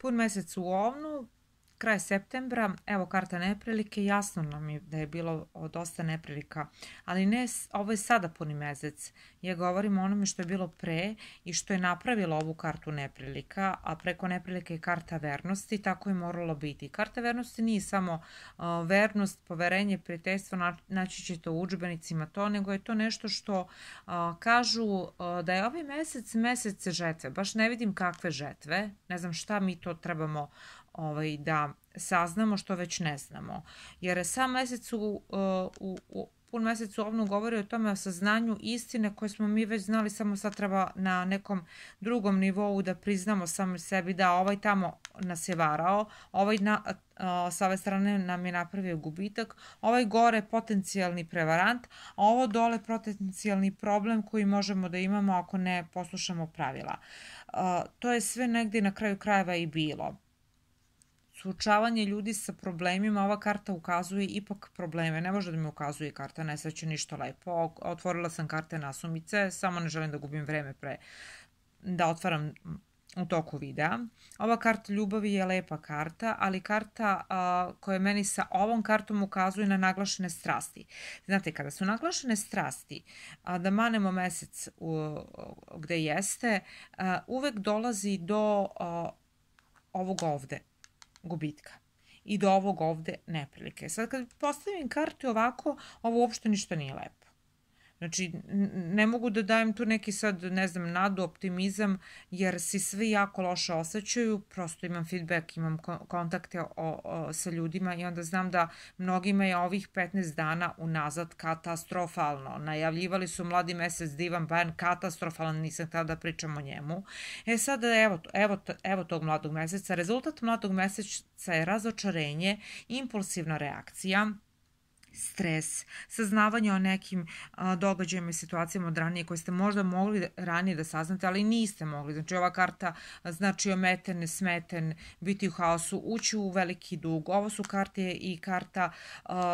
Pun mesec u Ovnu, kraj septembra, evo karta neprilike, jasno nam je da je bilo dosta neprilika, ali ne, ovo je sada puni mesec. Ja govorim o onome što je bilo pre i što je napravilo ovu kartu neprilika, a preko neprilike je karta vernosti, tako je moralo biti. Karta vernosti nije samo vernost, poverenje, prijateljstvo, naći ćete u udžbenicima to, nego je to nešto što kažu da je ovaj mesec žetve. Baš ne vidim kakve žetve, ne znam šta mi to trebamo da saznamo što već ne znamo. Jer sam mesec pun mesec u Ovnu govori o tome, o saznanju istine koje smo mi već znali, samo sad treba na nekom drugom nivou da priznamo sami sebi da ovaj tamo nas je varao, ovaj sa ove strane nam je napravio gubitak, ovaj gore potencijalni prevarant, a ovo dole potencijalni problem koji možemo da imamo ako ne poslušamo pravila. To je sve negdje na kraju krajeva i bilo. Suočavanje ljudi sa problemima, ova karta ukazuje ipak probleme. Ne može da mi ukazuje karta nesreće ništa lepo. Otvorila sam karte nasumice, samo ne želim da gubim vreme da otvaram u toku videa. Ova karta ljubavi je lepa karta, ali karta koja meni sa ovom kartom ukazuje na naglašene strasti. Znate, kada su naglašene strasti, da manemo mesec gde jeste, uvek dolazi do ovog ovde gubitka i do ovog ovde neprilike. Sad kad postavim karte ovako, ovo uopšte ništa nije lepo. Znači, ne mogu da dajem tu neki sad, ne znam, nadu, optimizam, jer si svi jako loše osjećaju, prosto imam feedback, imam kontakte sa ljudima i onda znam da mnogima je ovih 15 dana unazad katastrofalno. Najavljivali su mladi mesec divan, ban, katastrofalan, nisam htjela da pričam o njemu. Sada evo tog mladog meseca. Rezultat mladog meseca je razočarenje, impulsivna reakcija, stres, saznavanje o nekim događajima i situacijama od ranije koje ste možda mogli ranije da saznate, ali niste mogli. Znači, ova karta znači ometen, nesmeten, biti u haosu, ući u veliki dug. Ovo su karte i karta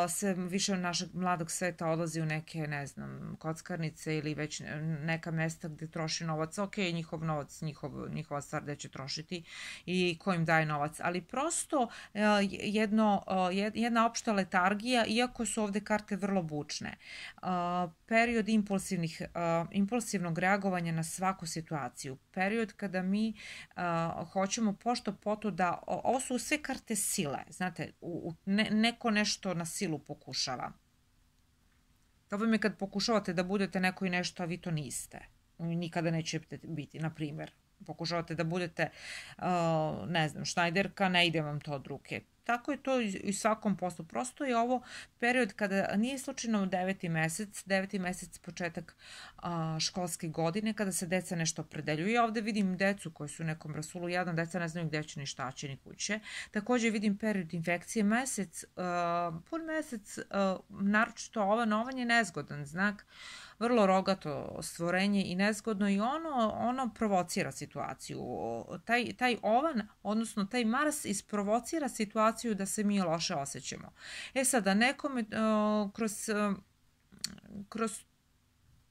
se više našeg mladog sveta odlazi u neke, ne znam, kockarnice ili već neka mesta gde troši novac. Ok, njihov novac, njihova stvar gde će trošiti i ko im daje novac, ali prosto jedna opšta letargija, iako su ovde karte vrlo bučne. Period impulsivnog reagovanja na svaku situaciju. Period kada mi hoćemo pošto poto da... Ovo su sve karte sile. Znate, neko nešto na silu pokušava. To vam je kad pokušavate da budete neko i nešto, a vi to niste. Nikada nećete biti, na primjer. Pokušavate da budete, ne znam, šnajderka, ne ide vam to od ruke. Tako je to i u svakom poslu. Prosto je ovo period kada nije slučajno 9. mesec, početak školske godine, kada se deca nešto opredeljuju. Ja ovde vidim decu koji su u nekom rasulu jadna, deca ne znaju gde će ni šta će ni kuće. Takođe vidim period infekcije, pun mesec, naročito ova novan je nezgodan znak, vrlo rogato stvorenje i nezgodno i ono provocira situaciju. Taj ovan, odnosno taj Mars isprovocira situaciju da se mi loše osjećamo. Sada nekome kroz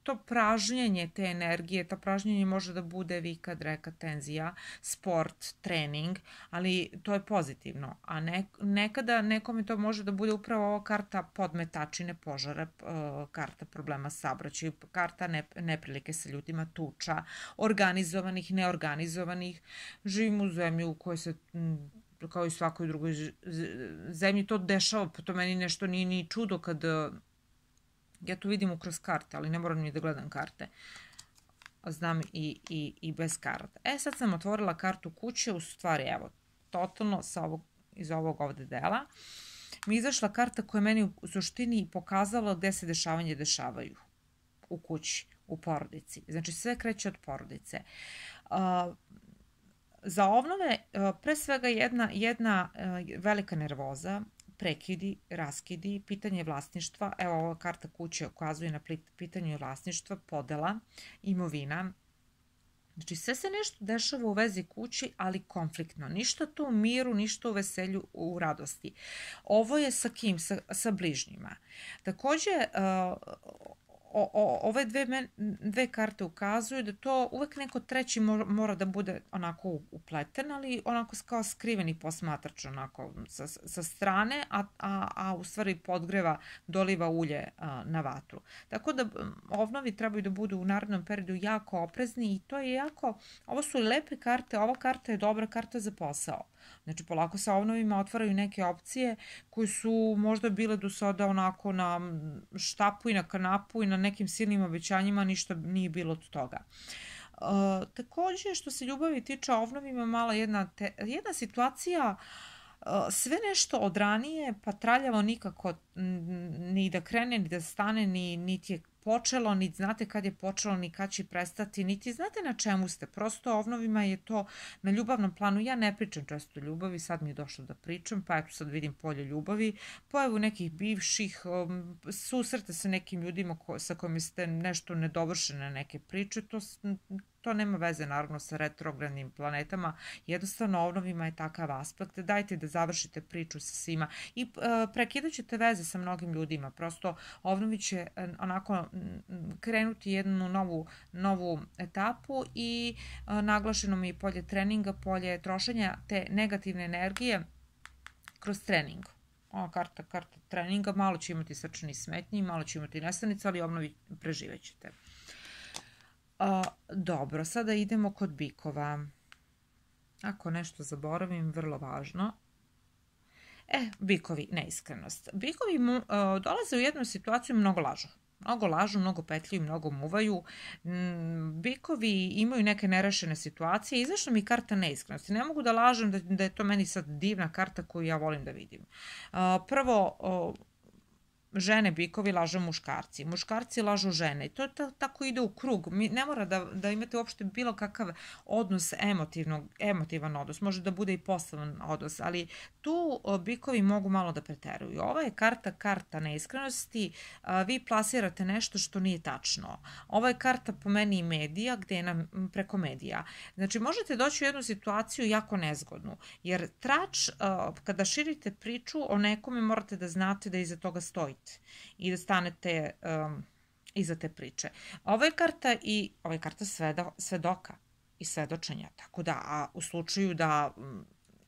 to pražnjenje te energije, to pražnjenje može da bude vika, dreka, tenzija, sport, trening, ali to je pozitivno. A nekada nekome to može da bude upravo ova karta podmetačine, požara, karta problema saobraćaja, karta neprilike sa ljudima, tuča, organizovanih, neorganizovanih. Živimo u zemlji u kojoj se kao i svakoj drugoj zemlji to dešava, pa to meni nešto nije ni čudo kad ja to vidim kroz karte, ali ne moram ni da gledam karte. Znam i bez karata. Sad sam otvorila kartu kuće, u stvari, evo, totalno iz ovog ovde dela. Mi je izašla karta koja meni u suštini pokazala gde se dešavanje dešavaju. U kući, u porodici. Znači, sve kreće od porodice. Za obnove, pre svega jedna velika nervoza, prekidi, raskidi, pitanje vlasništva. Evo, ova karta kuće ukazuje na pitanje vlasništva, podela, imovina. Znači, sve se nešto dešava u vezi kući, ali konfliktno. Ništa tu u miru, ništa u veselju, u radosti. Ovo je sa kim? Sa bližnjima. Takođe, ove dve karte ukazuju da to uvek neko treći mora da bude onako upleten, ali onako kao skriveni posmatrač onako sa strane, a u stvari podgreva, doliva ulje na vatru. Tako da ovnovi trebaju da budu u narednom periodu jako oprezni i to je jako, ovo su lepe karte, ova karta je dobra karta za posao. Znači, polako sa ovnovima otvaraju neke opcije koje su možda bile do sada onako na štapu i na kanapu i na nekim silnim obećanjima, ništa nije bilo od toga. Takođe, što se ljubavi tiče, ovnovima mala jedna situacija, sve nešto od ranije, pa traljavo nikako ni da krene, ni da stane, niti je počelo, niti znate kad je počelo, ni kad će prestati, niti znate na čemu ste. Prosto ovnovima je to na ljubavnom planu. Ja ne pričam često o ljubavi, sad mi je došlo da pričam, pa eto sad vidim polje ljubavi, pojavu nekih bivših, susrete sa nekim ljudima sa kojima ste nešto nedovršene neke priče, to nema veze naravno sa retrogradnim planetama, jednostavno ovnovima je takav aspekt, dajte da završite priču sa svima i prekidat ćete veze sa mnogim ljudima, prosto ovnovi će onako krenuti jednu novu etapu i naglašeno mi je polje treninga, polje trošenja te negativne energije kroz trening. Ova karta treninga, malo će imati srčani smetnji, malo će imati nestanica, ali ovnovi preživećete. Dobro, sada idemo kod bikova. Ako nešto zaboravim, vrlo važno. Bikovi, neiskrenost. Bikovi dolaze u jednu situaciju, mnogo lažu, mnogo petljuju, mnogo muvaju. Bikovi imaju neke nerešene situacije. Izašla mi karta neiskrenosti. Ne mogu da lažem da je to meni sad divna karta koju ja volim da vidim. Prvo, žene bikovi lažu muškarci lažu žene i to tako ide u krug. Ne mora da imate uopšte bilo kakav odnos, emotivan odnos, može da bude i poslovan odnos, ali tu bikovi mogu malo da preteruju. Ova je karta neiskrenosti, vi plasirate nešto što nije tačno. Ova je karta po meni i medija, gde je nam preko medija. Znači, možete doći u jednu situaciju jako nezgodnu, jer trač, kada širite priču o nekome, morate da znate da iza toga stojite i da stanete iza te priče. Ovo je karta svedoka i svedočenja, tako da u slučaju da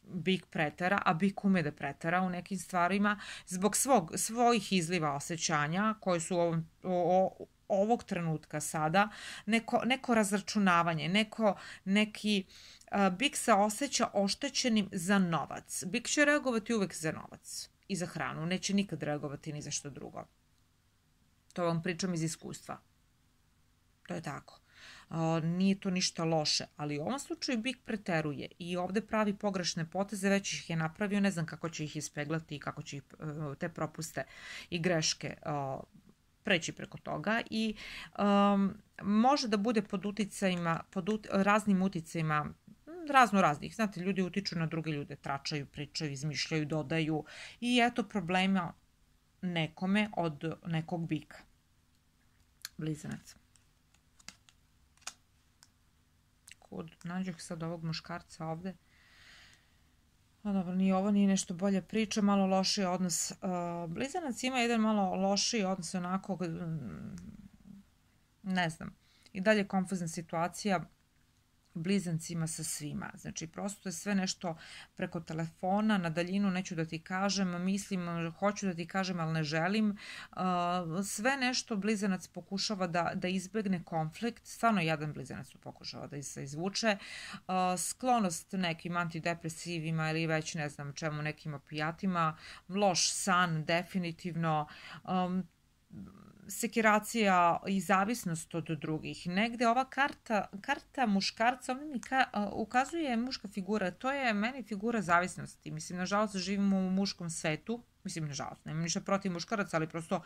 bik pretera, a bik ume da pretera u nekim stvarima, zbog svojih izliva osjećanja koje su ovog trenutka sada, neko razračunavanje, neki bik se osjeća oštećenim za novac. Bik će reagovati uvek za novac i za hranu, neće nikad reagovati ni za što drugo. To vam pričam iz iskustva. To je tako. Nije to ništa loše, ali u ovom slučaju bik preteruje i ovde pravi pogrešne poteze, već ih je napravio, ne znam kako će ih ispeglati i kako će te propuste i greške preći preko toga i može da bude pod raznim uticajima raznih. Znate, ljudi utiču na druge ljude, tračaju, pričaju, izmišljaju, dodaju i eto problema nekome od nekog bika. Blizanac. Nađoh sad ovog muškarca ovde. Dobro, ni ovo nije nešto bolje priča, malo lošiji odnos. Blizanac ima jedan malo lošiji odnos, onako, ne znam, i dalje konfuzna situacija blizancima sa svima. Znači, prosto je sve nešto preko telefona, na daljinu, neću da ti kažem, mislim, hoću da ti kažem, ali ne želim. Sve nešto blizanac pokušava da izbegne konflikt, stvarno jedan blizanac pokušava da se izvuče. Sklonost nekim antidepresivima ili već ne znam čemu, nekim opijatima, loš san, definitivno, sekiracija i zavisnost od drugih. Negde ova karta muškarca, ovdje mi ukazuje muška figura, to je meni figura zavisnosti. Mislim, nažalost, živimo u muškom svetu, mislim, nažalost, nemam ništa protiv muškaraca, ali prosto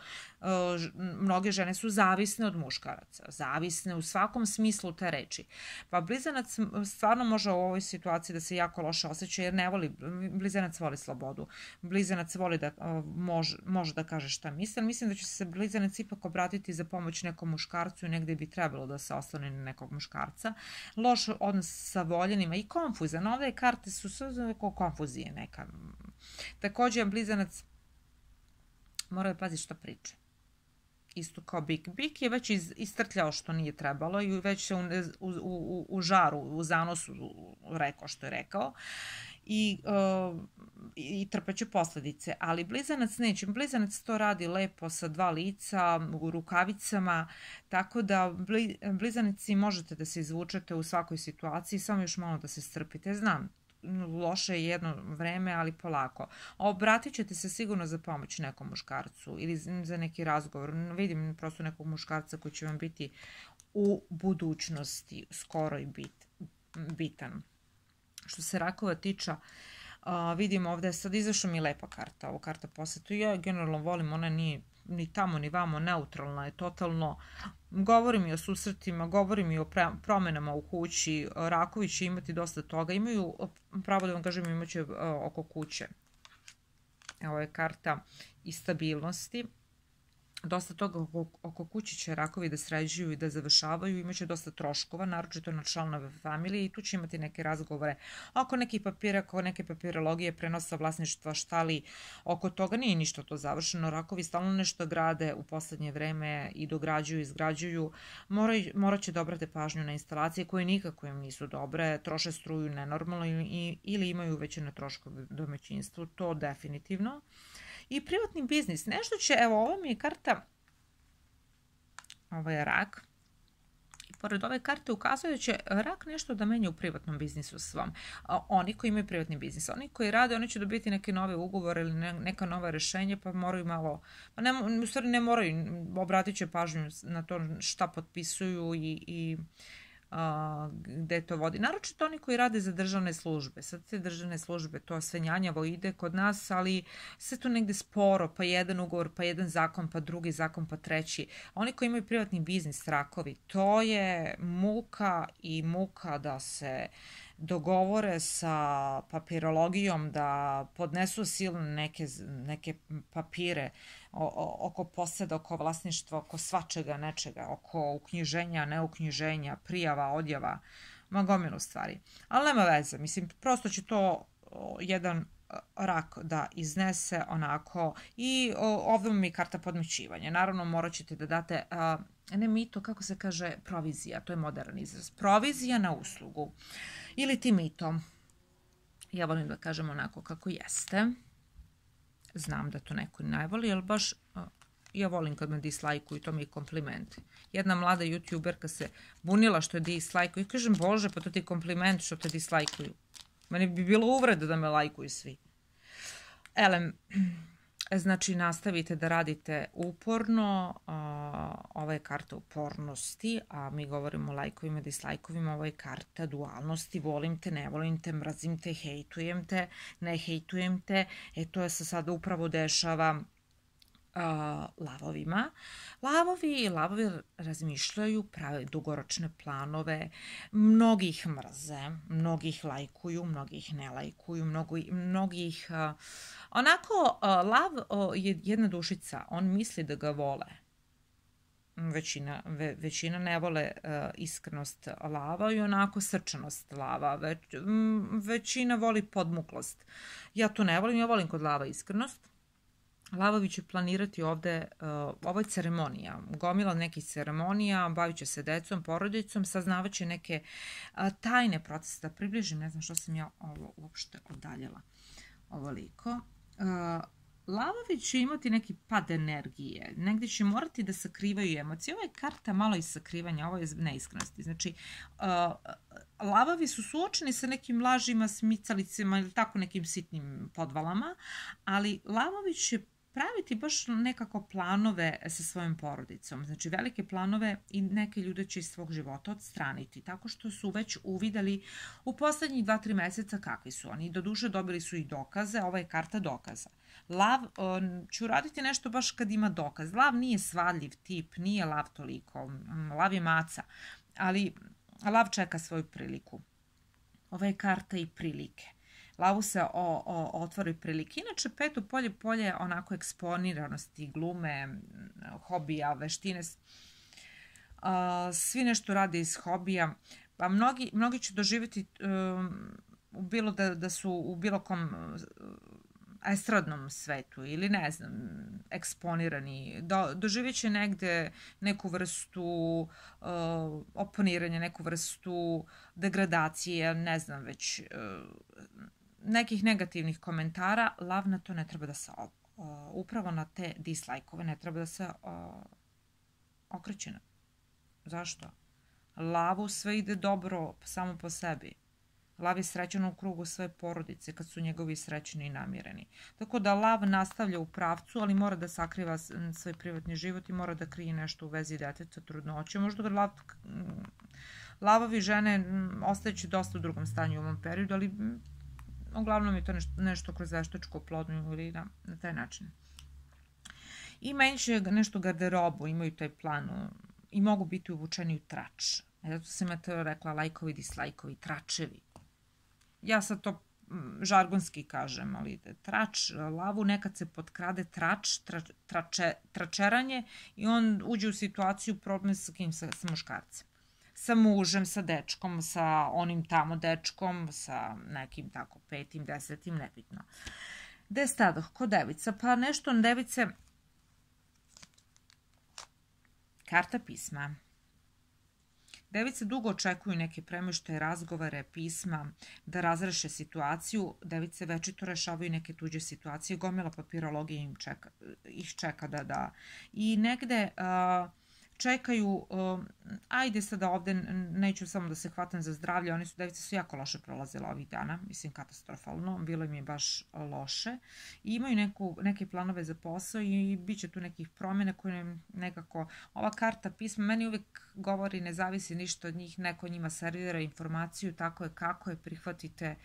mnoge žene su zavisne od muškaraca, zavisne u svakom smislu te reči. Pa blizanac stvarno može u ovoj situaciji da se jako loše osjeća, jer ne voli, blizanac voli slobodu. Blizanac voli da može da kaže šta misli, ali mislim da će se blizanac ipak obratiti za pomoć nekom muškarcu i negde bi trebalo da se osloni na nekog muškarca. Loš odnos sa voljenima i konfuzan. Ove karte su sve konfuzije neka. Takođe, blizanac mora da pazi šta priča isto kao bik. Bik je već istrtljao što nije trebalo i već se u žaru, u zanosu rekao što je rekao i trpeće posledice. Ali blizanac neće. Blizanac to radi lepo sa 2 lica, u rukavicama, tako da blizanici možete da se izvučete u svakoj situaciji, samo još malo da se strpite. Znam, loše je jedno vreme, ali polako. Obratit ćete se sigurno za pomoć nekom muškarcu ili za neki razgovor. Vidim prosto nekog muškarca koji će vam biti u budućnosti skoro i bitan. Što se rakova tiče, vidim ovde, sad izašla mi lepa karta, ovo karta posvetu. Ja generalno volim, ona nije ni tamo ni vamo, neutralna je totalno. Govori mi o susretima, govori mi o promenama u kući. Rakovi će imati dosta toga. Imaju, pravo da vam kažem, imaće oko kuće. Ovo je karta i stabilnosti. Dosta toga oko kuće će rakovi da sređuju i da završavaju, imaće dosta troškova, naročito na članove familije i tu će imati neke razgovore oko nekih papira, oko neke papirologije, prenosa vlasništva, šta li oko toga. Nije ništa to završeno, rakovi stalno nešto grade u poslednje vreme i dograđuju, izgrađuju. Morat će da obrate pažnju na instalacije koje nikako im nisu dobre, troše struju nenormalno ili imaju veće troškove u domaćinstvu, to definitivno. I privatni biznis, nešto će, evo ovo mi je karta, ovo je rak, i pored ove karte ukazuje da će rak nešto da menja u privatnom biznisu svom. Oni koji imaju privatni biznis, oni koji rade, oni će dobiti neke nove ugovore ili neka nova rešenja, pa moraju malo, u stvari ne moraju, obratit će pažnju na to šta potpisuju i gde to vodi. Naročito oni koji rade za državne službe. Sad te državne službe, to sve njanjavo ide kod nas, ali sve to negde sporo, pa jedan ugovor, pa jedan zakon, pa drugi zakon, pa treći. Oni koji imaju privatni biznis, rakovi, to je muka i muka da se dogovore sa papirologijom, da podnesu silne neke papire oko poseda, oko vlasništva, oko svačega, nečega, oko uknjiženja, neuknjiženja, prijava, odjava, gomilu stvari. Ali nema veze, mislim, prosto će to jedan rak da iznese onako i ovdje mi je karta podmećivanja. Naravno, morat ćete da date, ne mito, kako se kaže, provizija, to je modern izraz. Provizija na uslugu ili ti mito. Ja volim da kažem onako kako jeste. Znam da to neko ne voli, ali baš ja volim kad me dislajkuju, to mi je kompliment. Jedna mlada youtuberka se bunila što je dislajkuju i kažem, bože, pa to ti je kompliment što te dislajkuju. Meni bi bilo uvreda da me lajkuju svi. Znači, nastavite da radite uporno, ova je karta upornosti, a mi govorimo o lajkovima, dislajkovima, ovo je karta dualnosti, volim te, ne volim te, mrazim te, hejtujem te, ne hejtujem te, to je se sada upravo dešava lavovima. Lavovi razmišljaju, prave dugoročne planove, mnogi ih mrze, mnogi ih lajkuju, mnogi ih ne lajkuju, mnogi ih... Onako, lav je jedna dušica, on misli da ga vole. Većina ne vole iskrenost lava i onako srčanost lava. Većina voli podmuklost. Ja to ne volim, ja volim kod lava iskrenost. Lavovi će planirati ovde, ovo je ceremonija, gomila nekih ceremonija, bavit će se decom, porodicom, saznavat će neke tajne procese, da približim, ne znam što sam ja ovo uopšte odaljela ovoliko. Lavovi će imati neki pad energije, negdje će morati da sakrivaju emocije. Ovo je karta malo iz sakrivanja, ovo je neiskrenosti. Znači, lavovi su suočeni sa nekim lažima, smicalicama ili tako nekim sitnim podvalama, ali lavovi će praviti baš nekako planove sa svojom porodicom. Znači, velike planove i neke ljude će iz svog života odstraniti, tako što su već uvideli u poslednjih 2-3 meseca kakvi su oni. Doduše, dobili su i dokaze, ovo je karta dokaza. Lav će uraditi nešto baš kad ima dokaz. Lav nije svadljiv tip, nije lav toliko. Lav je maca, ali lav čeka svoju priliku. Ova je karta i prilike. Lavu se otvori prilike. Inače, peto polje onako eksponiranosti, glume, hobija, veštine. Svi nešto rade iz hobija. Pa mnogi će doživjeti bilo da su u bilo kom estradnom svetu ili ne znam, eksponirani, doživjet će negde neku vrstu oponiranja, neku vrstu degradacije, ne znam već, nekih negativnih komentara. Lav na to ne treba da se upravo na te dislajkove ne treba da se okreće. Zašto? Lavu sve ide dobro samo po sebi. Lav je srećan u krugu svoje porodice kad su njegovi srećni i namireni. Tako da lav nastavlja u pravcu, ali mora da sakriva svoj privatni život i mora da krije nešto u vezi deteta, trudnoće. Možda ga lavovi žene ostajeći dosta u drugom stanju u ovom periodu, ali uglavnom je to nešto kroz veštačku oplodnju ili na taj način. I menjaju nešto garderobu, imaju taj plan i mogu biti uvučeni u trač. Zato sam ja to rekla, lajkovi, dislajkovi, tračevi. Ja sad to žargonski kažem, ali trač, lavu nekad se potkrade tračeranje i on uđe u situaciju problem sa kim, sa muškarcem. Sa mužem, sa dečkom, sa onim tamo dečkom, sa nekim tako 5., 10., nebitno. Gde stadoh? Ko devica? Pa nešto device, karta pisma. Device dugo očekuju neke premještaje, razgovore, pisma, da razreše situaciju. Device večito rešavaju neke tuđe situacije. Gomila papirologije ih čeka da... I negde čekaju, ajde sada ovde, neću samo da se hvatam za zdravlje, device su jako loše prolazile ovih dana, mislim katastrofalno, bilo im je baš loše. I imaju neke planove za posao i bit će tu nekih promjena koje nekako, ova karta pisma, meni uvijek govori ne zavisi ništa od njih, neko njima servira informaciju, tako je kako je, prihvatite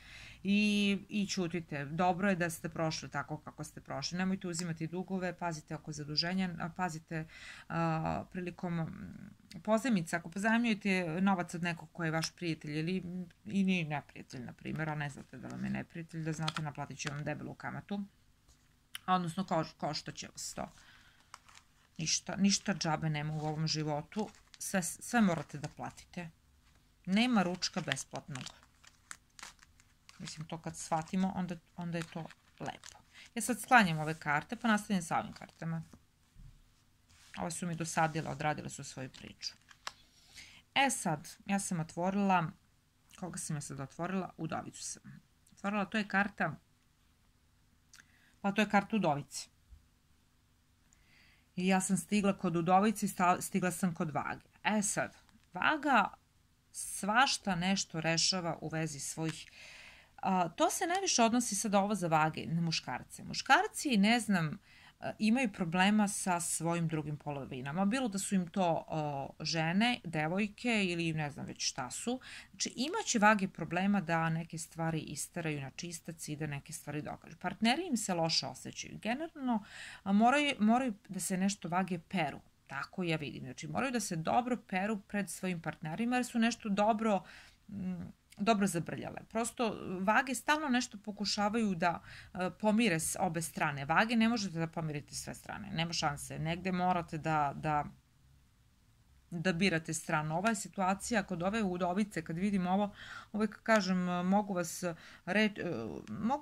i ćutite. Dobro je da ste prošli tako kako ste prošli. Nemojte uzimati dugove, pazite oko zaduženja, pazite prilikom pozajmica, ako pozajmljujete novac od nekog ko je vaš prijatelj ili nije neprijatelj, na primjer, a ne znate da vam je neprijatelj, da znate naplatit će vam debelu kamatu, odnosno koštat će vas to. Ništa džabe nema u ovom životu, sve morate da platite. Nema ručka besplatnog. Mislim, to kad shvatimo, onda je to lepo. Ja sad sklanjam ove karte, pa nastavljam sa ovim kartama. Ove su mi dosadile, odradile su svoju priču. E sad, ja sam otvorila, koga sam ja sad otvorila? Udovicu sam. Otvorila, to je karta, pa to je karta Udovice. I ja sam stigla kod Udovice i stigla sam kod Vage. E sad, Vaga svašta nešto rešava u vezi svojih... To se najviše odnosi sada ovo za Vage, na muškarce. Muškarci, ne znam, imaju problema sa svojim drugim polovinama. Bilo da su im to žene, devojke ili ne znam već šta su. Znači imaće Vage problema da neke stvari isteraju na čistac i da neke stvari dokažu. Partneri im se loše osjećaju. Generalno moraju da se nešto Vage peru. Tako ja vidim. Znači moraju da se dobro peru pred svojim partnerima jer su nešto dobro zabrljale. Prosto Vage stalno nešto pokušavaju da pomire s obe strane. Vage ne možete da pomirite sve strane. Nema šanse. Negde morate da birate stranu. Ova je situacija kod ove Udovice, kad vidim ovo, uvijek kažem, mogu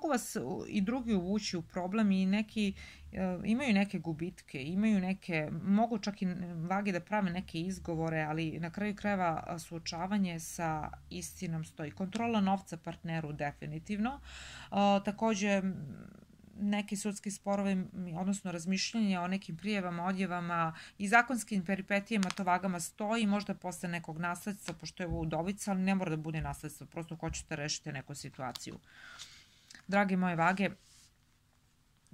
vas i drugi uvući u problem i imaju neke gubitke, mogu čak i Vage da prave neke izgovore, ali na kraju krajeva suočavanje sa istinom stoji. Kontrola novca partneru definitivno. Takođe, neki sudski sporovi, odnosno razmišljanja o nekim prijevama, odjevama i zakonskim peripetijama, to Vagama stoji, možda posle nekog nasledstva, pošto je ovo Udovica, ali ne mora da bude nasledstvo, prosto hoćete rešiti neku situaciju. Drage moje Vage,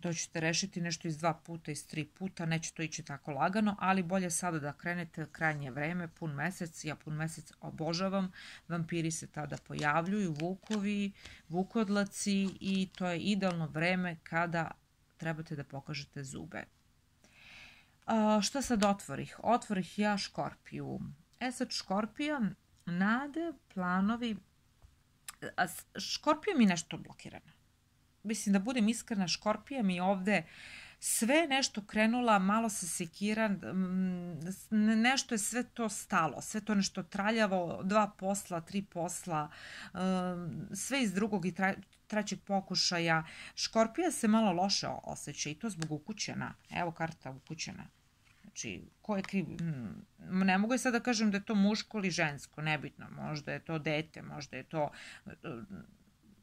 to ćete rešiti nešto iz 2 puta, iz 3 puta, neće to ići tako lagano, ali bolje sada da krenete, krajnje vreme, pun mesec, ja pun mesec obožavam, vampiri se tada pojavljuju, vukovi, vukodlaci i to je idealno vreme kada trebate da pokažete zube. Šta sad otvorih? Otvorih ja Škorpiju. E sad Škorpija, nade, planovi, Škorpija mi nešto blokirana. Mislim da budem iskrena, Škorpija mi ovde sve nešto krenula, malo se sekira, nešto je sve to stalo, sve to nešto traljavo, 2 posla, 3 posla, sve iz drugog i trećeg pokušaja. Škorpija se malo loše osjeća i to zbog ukućena. Evo karta ukućena. Znači, ko je kriv? Ne mogu sad da kažem da je to muško ili žensko, nebitno. Možda je to dete, možda je to...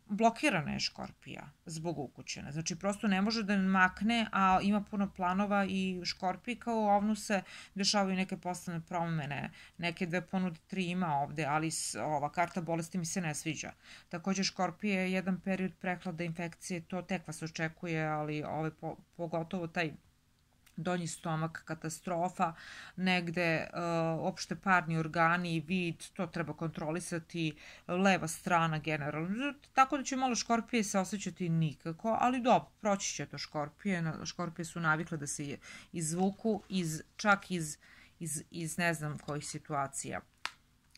Blokirana je Škorpija zbog ukućena. Znači, prosto ne može da makne, a ima puno planova i Škorpiji kao ovnu se dešavaju neke poslovne promene, neke 2 ponude, 3 ima ovde, ali ova karta bolesti mi se ne sviđa. Takođe, Škorpija je jedan period prehlada, infekcije, to tek vas očekuje, ali pogotovo taj donji stomak, katastrofa, negde opšte parni organi i vid, to treba kontrolisati, leva strana generalno. Tako da će malo Škorpije se osjećati nikako, ali dobro, proći će to Škorpije. Škorpije su navikle da se izvuku čak iz ne znam kojih situacija.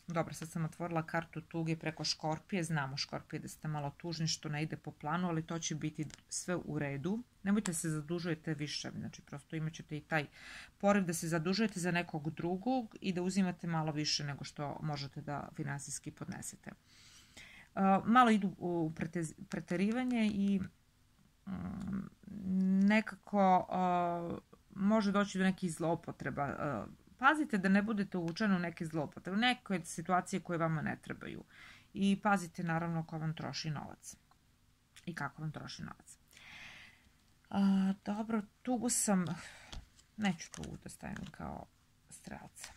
Dobro, sad sam otvorila kartu tuge preko Škorpije. Znamo Škorpije da ste malo tužni što ne ide po planu, ali to će biti sve u redu. Nemojte se zadužujete više, znači prosto imat ćete i taj poriv da se zadužujete za nekog drugog i da uzimate malo više nego što možete da finansijski podnesete. Malo idu u preterivanje i nekako može doći do nekih zloupotreba. Pazite da ne budete uvučeni u neke zloupotrebe, u neke situacije koje vama ne trebaju. I pazite naravno ko vam troši novac i kako vam troši novac. Dobro, tugu sam, neću tugu da stavim kao strelca.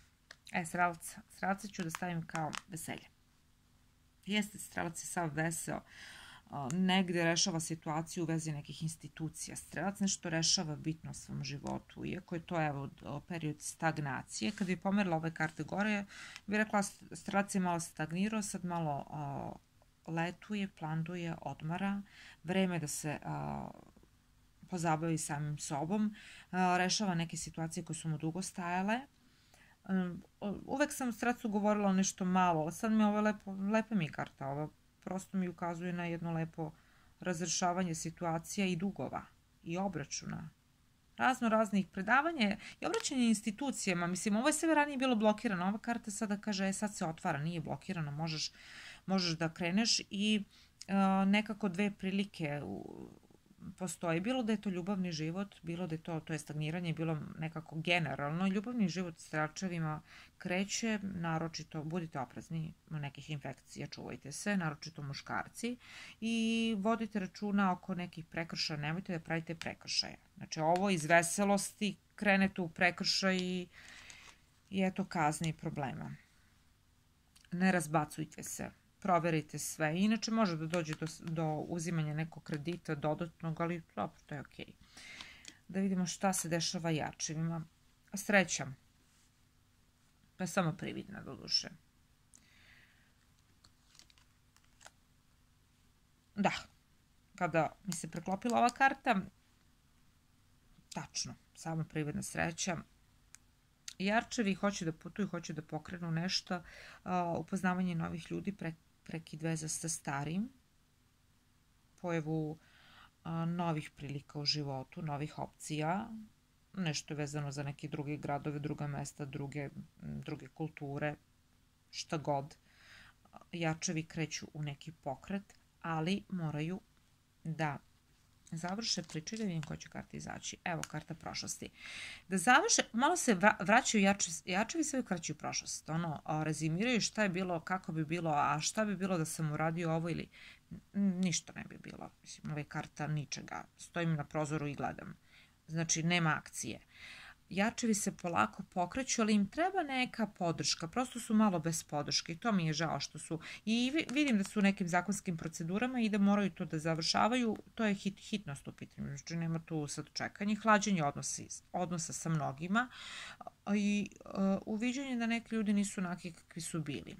Strelca ću da stavim kao veselje. Jeste, strelac je sav veseo, negde rešava situaciju u vezi nekih institucija. Strelac nešto rešava bitno u svom životu, iako je to evo period stagnacije. Kad bi pomerila ove karte gore, bi rekla strelac je malo stagnirao, sad malo letuje, planduje, odmara. Vreme da se pozabavi samim sobom, rešava neke situacije koje su mu dugo stajale. Uvek sam strelcu govorila nešto malo, ali sad mi ovo lepa mi karta, ovo prosto mi ukazuje na jedno lepo razrešavanje situacija i dugova i obračuna. Raznih predavanja i obraćanja institucijama. Mislim, ovo je sve ranije bilo blokirano. Ova karta sada kaže, sad se otvara, nije blokirano, možeš da kreneš i nekako 2 prilike postoji. Bilo da je to ljubavni život, bilo da je to je stagniranje, bilo nekako generalno. Ljubavni život s strelčevima kreće, naročito budite oprezni u nekih infekcija, čuvajte se, naročito muškarci i vodite računa oko nekih prekršaja, nemojte da pravite prekršaje. Znači ovo iz veselosti krenete u prekršaj i eto kazne i problema. Ne razbacujte se. Proverite sve. Inače može da dođe do uzimanja nekog kredita dodatnog, ali dobro, to je okej. Da vidimo šta se dešava jačevima. Sreća. To je samo prividna do duše. Da, kada mi se preklopila ova karta, tačno, samo prividna sreća. Jarčevi hoće da putuju, hoće da pokrenu nešto, upoznavanje novih ljudi, prekid veza sa starim, pojavu novih prilika u životu, novih opcija, nešto vezano za neke druge gradove, druga mesta, druge kulture, šta god. Jarčevi kreću u neki pokret, ali moraju da završe priče, da vidim koja će karta izaći. Evo, karta prošlosti. Da završe, malo se vraćaju jačevi, sve vraćaju prošlost. Rezimiraju šta je bilo, kako bi bilo, a šta bi bilo da sam uradio ovo ili ništa ne bi bilo. Mislim, ove karta ničega. Stojim na prozoru i gledam. Znači, nema akcije. Jačevi se polako pokreću, ali im treba neka podrška. Prosto su malo bez podrške i to mi je žao što su. I vidim da su u nekim zakonskim procedurama i da moraju to da završavaju. To je hitnost u pitanju. Znači nema tu sad čekanje. Hlađenje odnosa sa mnogima i uviđanje da neki ljudi nisu onaki kakvi su bili.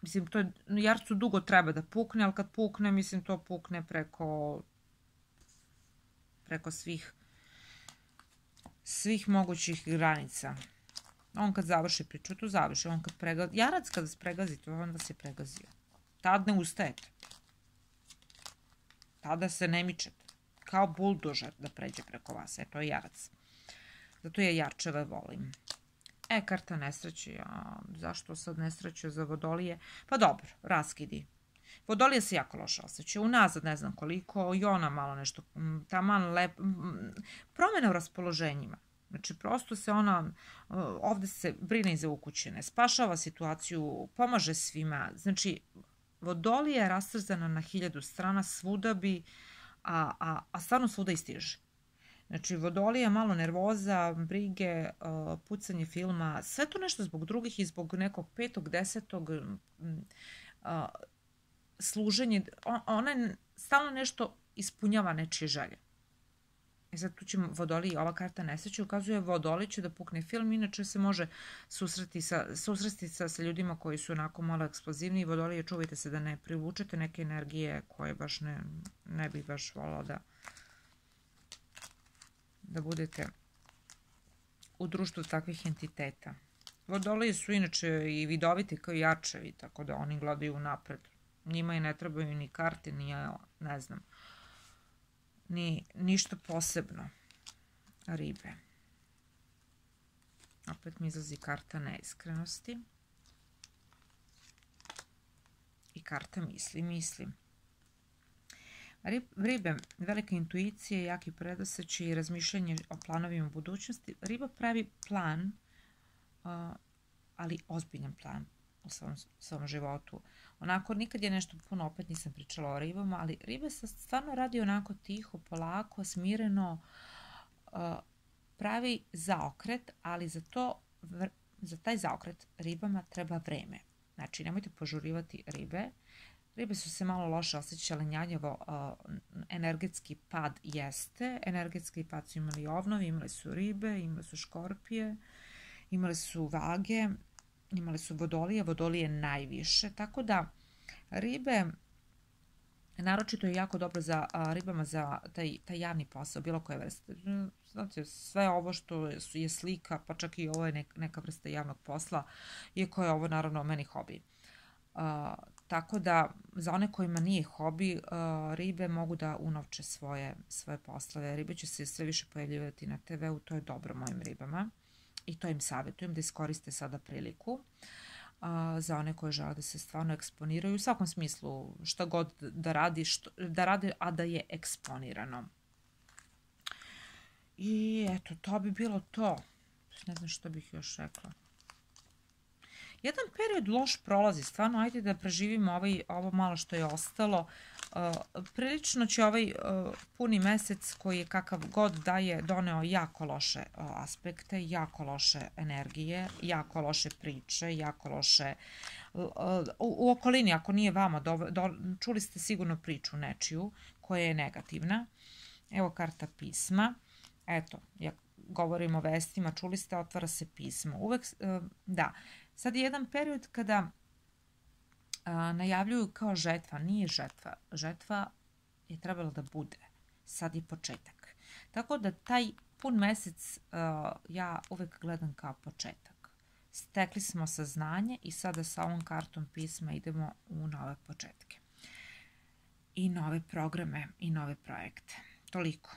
Mislim, to je, jarcu dugo treba da pukne, ali kad pukne, mislim, to pukne preko svih mogućih granica. On kad završi priču, to završi. On kad pregazi, jarac kada se pregazi, to onda se pregazio. Tad ne ustajete. Tada se ne mičete. Kao buldožer da pređe preko vas. To je jarac. Zato ja jarčeve volim. Karta nesreće. Zašto sad nesreće za vodolije? Pa dobro, raskidi. Vodolije se jako loše osjećaju, unazad ne znam koliko, i ona malo nešto, taman promjena u raspoloženjima. Znači, prosto se ona, ovde se brine i za ukućene, spašava situaciju, pomaže svima. Znači, Vodolija je rastrzana na 1000 strana, svuda bi, a stvarno svuda i stiže. Znači, Vodolija, malo nervoza, brige, pucanje filma, sve to nešto zbog drugih i zbog nekog 5., 10. Služenje, ona stalno nešto ispunjava nečije želje. I sad tu će Vodoliji, ova karta nesreće ukazuje Vodoliji će da pukne film, inače se može susresti sa ljudima koji su onako malo eksplozivni i Vodolije, čuvajte se da ne privučete neke energije koje baš ne bih baš volila da budete u društvu takvih entiteta. Vodolije su inače i vidoviti kao i arčevi, tako da oni gledaju napred. Njima i ne trebaju ni karte, ni ne znam, ni ništa posebno. Ribe. Opet mi izlazi karta neiskrenosti. I karta mislim. Ribe, velika intuicija, jaki predosećaj i razmišljanje o planovima u budućnosti. Riba pravi plan, ali ozbiljan plan u svom životu. Onako, nikad je nešto puno, opet nisam pričala o ribama, ali ribe se stvarno radi onako tiho, polako, smireno, pravi zaokret, ali za taj zaokret ribama treba vreme. Znači, nemojte požurivati ribe. Ribe su se malo loše osjećale, njanjavo, energetski pad jeste. Energetski pad su imali ovnovi, imali su ribe, imali su škorpije, imali su vage, imali su Vodolije najviše, tako da ribe, naročito je jako dobro za ribama za taj javni posao, bilo koje vrste. Znate, sve ovo što je slika, pa čak i ovo je neka vrsta javnog posla, iako je ovo naravno meni hobi. Tako da, za one kojima nije hobi, ribe mogu da unovče svoje poslove. Ribe će se sve više pojavljivati na TV-u, to je dobro mojim ribama. I to im savjetujem da iskoriste sada priliku za one koje žele da se stvarno eksponiraju. U svakom smislu, šta god da rade, a da je eksponirano. I eto, to bi bilo to. Ne znam što bih još rekla. Jedan period loš prolazi, stvarno, ajde da preživimo ovo malo što je ostalo. Prilično će ovaj puni mesec koji je kakav god da je doneo jako loše aspekte, jako loše energije, jako loše priče, jako loše u okolini, ako nije vama, čuli ste sigurno priču nečiju koja je negativna. Evo karta pisma. Eto, ja govorim o vestima, čuli ste, otvara se pismo. Uvek, da, sad je jedan period kada najavljuju kao žetva, nije žetva. Žetva je trebalo da bude. Sad je početak. Tako da taj pun mesec ja uvek gledam kao početak. Stekli smo saznanje i sada sa ovom kartom pisma idemo u nove početke. I nove programe i nove projekte. Toliko.